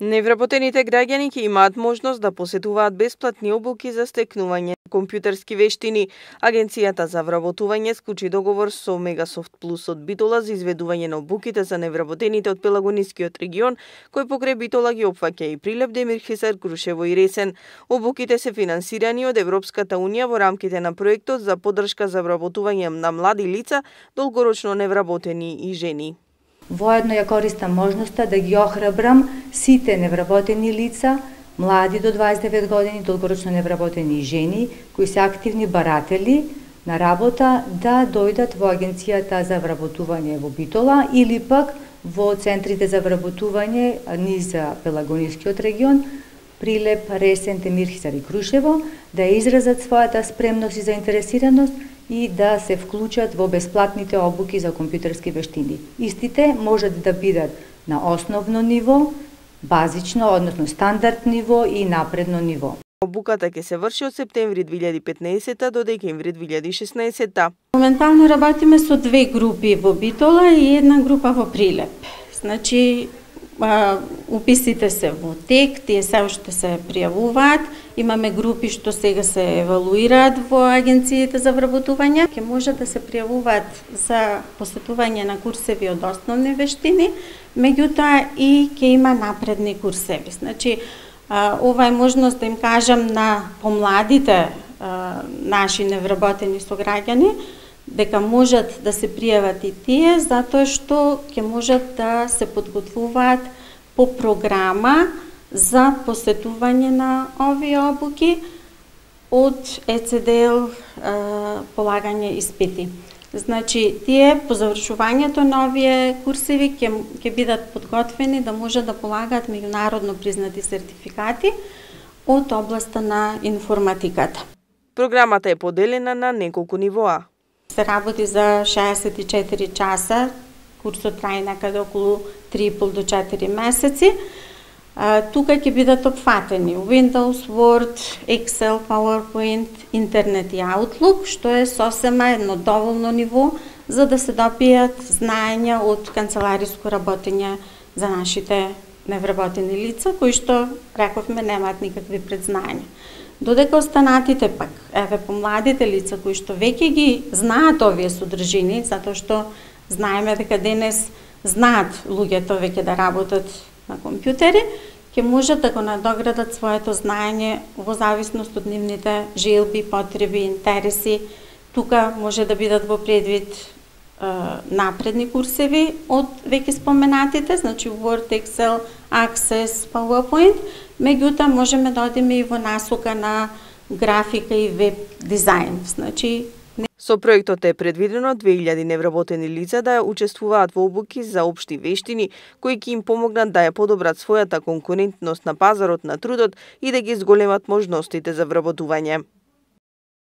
Невработените граѓани ќе имаат можност да посетуваат бесплатни обуки за стекнување компјутерски вештини. Агенцијата за вработување склучи договор со Мегасофт Плюс од Битола за изведување на обуките за невработените од Пелагонискиот регион, кој покрај Битола ги опфаќа и Прилеп, Демирхисар, Крушево и Ресен. Обуките се финансирани од Европската унија во рамките на проектот за поддршка за вработување на млади лица, долгорочно невработени и жени. Воедно ја користам можноста да ги охрабрам сите невработени лица, млади до 29 години, долгорочно невработени и жени, кои се активни баратели на работа, да дојдат во Агенцијата за вработување во Битола или пак во центрите за вработување низ Пелагонискиот регион, Прилеп, Ресен, Демирхисар и Крушево, да изразат својата спремност и заинтересираност и да се вклучат во бесплатните обуки за компјутерски вештини. Истите можат да бидат на основно ниво, базично, односно стандард ниво и напредно ниво. Обуката ќе се врши од септември 2015 до декември 2016. Моментално работиме со две групи во Битола и една група во Прилеп. Значи, уписите се во тек, тие се уште се пријавуваат. Имаме групи што сега се евалуираат во агенциите за вработување. Ќе може да се пријавуваат за посетување на курсеви од основни вештини, меѓутоа и ќе има напредни курсеви. Значи, ова е можност да им кажам на помладите наши невработени сограѓани дека можат да се пријават и тие, затоа што ќе можат да се подготвуваат по програма за посетување на овие обуки од ЕЦДЛ полагање испити. Значи, тие по завршувањето на овие курсеви ќе бидат подготвени да може да полагаат меѓународно признати сертификати од областа на информатиката. Програмата е поделена на неколку нивоа. Се работи за 64 часа, курсот трае некаде околу 3,5 до 4 месеци. Тука ќе бидат опфатени Windows, Word, Excel, PowerPoint, Интернет и Outlook, што е сосема едно доволно ниво за да се добијат знаења од канцелариско работење за нашите невработени лица, кои што, рековме, немаат никакви предзнања. Додека останатите пак, еве помладите лица кои што веќе ги знаат овие содржини, затоа што знаеме дека денес знаат луѓето веќе да работат на компјутери, ќе можат да го надоградат своето знаење во зависност од нивните желби, потреби, интереси. Тука може да бидат во предвид напредни курсеви од веќе споменатите, значи Word, Excel, Access, PowerPoint, меѓутоа можеме да одиме и во насока на графика и веб дизајн. Значи, со проектот е предвидено 2000 невработени лица да учествуваат во обуки за општи вештини, кои ќе им помогнат да ја подобрат својата конкурентност на пазарот на трудот и да ги зголемат можностите за вработување.